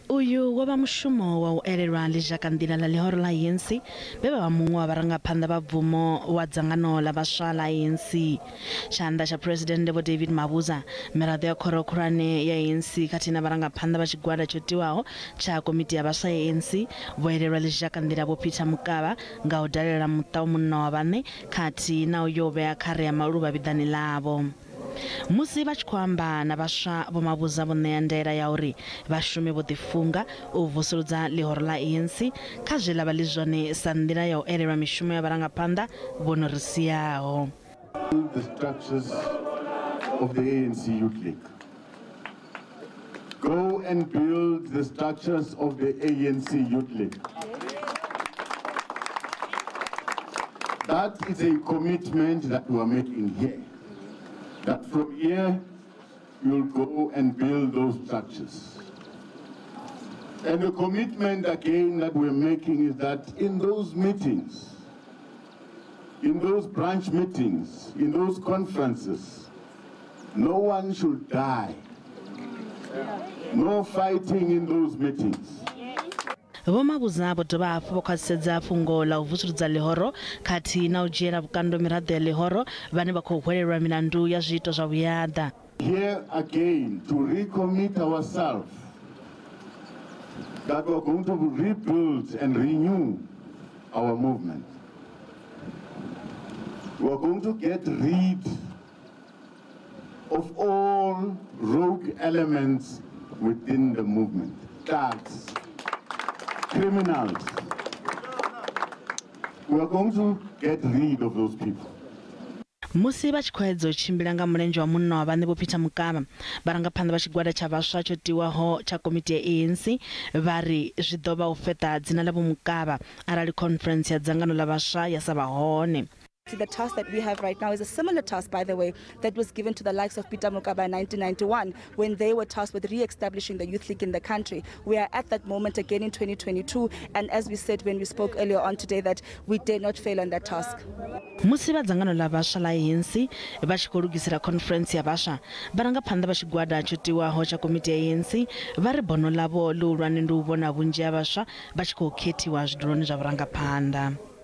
Uyu wo vha mushumo wa u elelwa ḽizhakanḓila ḽa ḽihoro ḽa ANC vhe vha vha muṅwe wa vharangaphanḓa vha bvumo wa dzangano ḽa vhaswa ḽa ANC. Tshanḓa tsha Phresidennde Vho David Mabuza, miraḓo ya khoro khulwane ya ANC khathihi na vharangaphanḓa vha tshigwada tsho tiwaho tsha komiti ya vhaswa ya ANC vho elelwa ḽizhakanḓila Vho Peter Mokaba nga u dalela muṱa wa munna wa vhaṋe khathihi na u yo vhea khare ya maluvha vhiḓani ḽavho. Musi vha tshi khou amba na vhaswa Vho Mabuza vho ṋea ndaela ya uri vhashumi vho ḓifunga u vusuludza ḽihoro ḽa ANC kha zwe ḽa vha ḽi zwone sa nḓila ya u elelwa mishumo ya vharangaphanḓa vho no ri siaho. The structures of the ANC Youth League. Go and build the structures of the ANC Youth League. That is a commitment that we are making here. That from here, you'll go and build those structures. And the commitment again that we're making is that in those meetings, in those branch meetings, in those conferences, no one should die. No fighting in those meetings. Vho Mabuza vho dovha hafhu vho khwaṱhisedza fhungo ḽa u vusuludza ḽihoro khathihi na u dzhiela vhukando miraḓo ya ḽihoro vhane vha khou hwelelwa milandu ya zwiito zwa vhuyaḓa. Here again to recommit ourselves that we are going to rebuild and renew our movement. We are going to get rid of all rogue elements within the movement, thugs, criminals. We are going to get rid of those people. Musi vha tshi khou edza u tshimbila nga mulenzhe wa munna wa vhaṋe Vho Peter Mokaba, vharangaphanḓa vha tshigwada tsha vhaswa tsho tiwaho tsha komiti ya ANC vha ri zwi ḓo vha u fheṱa dzina ḽa Vho Mokaba arali conference ya dzangano ḽa vhaswa ya sa vha hone. The task that we have right now is a similar task, by the way, that was given to the likes of Peter Mokaba in 1991 when they were tasked with re-establishing the Youth League in the country. We are at that moment again in 2022, and as we said when we spoke earlier on today, that we dare not fail on that task. Musi vha dzangano ḽa vhaswa ḽa ANC vha tshi khou lugisela conference ya vhaswa, vharangaphanḓa vha tshigwada tsho tiwaho tsha komiti ya ANC vha ri bono ḽavho ḽihulwane ndi u vhona vhunzhi ha vhaswa vha tshi khou khethiwa zwiduloni zwa vhurangaphanḓa.